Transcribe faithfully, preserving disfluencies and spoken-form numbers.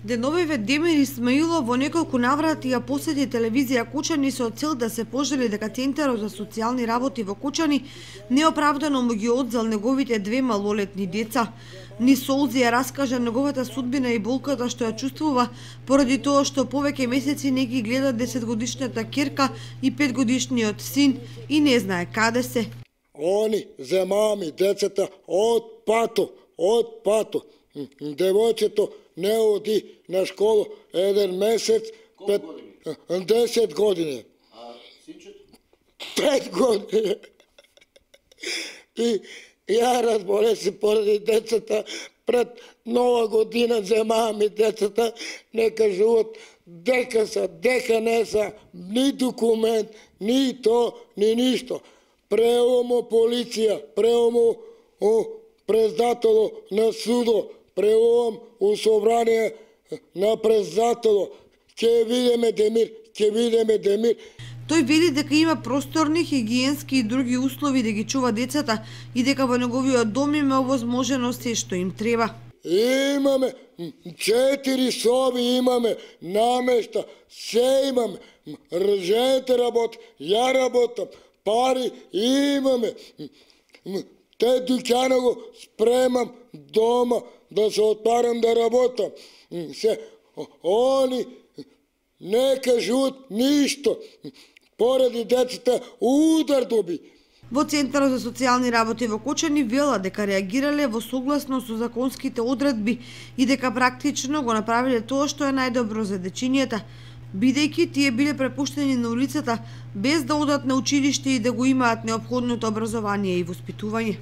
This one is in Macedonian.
Деновиве Демир Исмаилов во неколку наврати ја посети телевизија Кучани со цел да се пожали дека Центарот за социјални работи во Кучани неоправдано му ги одзел неговите две малолетни деца. Ни солзи ја раскажа неговата судбина и болката што ја чувствува поради тоа што повеќе месеци не ги гледа десетгодишната ќерка и петгодишниот син и не знае каде се. Они земаа ми децата од пато, од пато. Девојчето не оди на школу еден месец, пет, десет години. А синчето? Пет години. И ја разболе се поради децата, пред нова година земаа ми децата, не кажуваат дека са, дека не са, ни документ, ни то, ни ништо. Преомо полиција, преомо председатело на судо, преом у собрание на председатело, ќе видиме Демир, ќе видиме Демир. Тој вели дека има просторни, хигиенски и други услови да ги чува децата и дека во неговиот дом има овозможено се што им треба. Имаме четири соби, имаме намешта, се имаме. Жените работи, ја работам, пари имаме. Те дуќана го спремам дома да се отпарам да работам. Се, они не кажут ништо. Поради децата удар доби. Во Центарот за социјални работи во Кучани вела дека реагирале во согласно со законските одредби и дека практично го направиле тоа што е најдобро за дечињата, бидејќи тие биле препуштени на улицата без да одат на училиште и да го имаат неопходното образование и воспитување.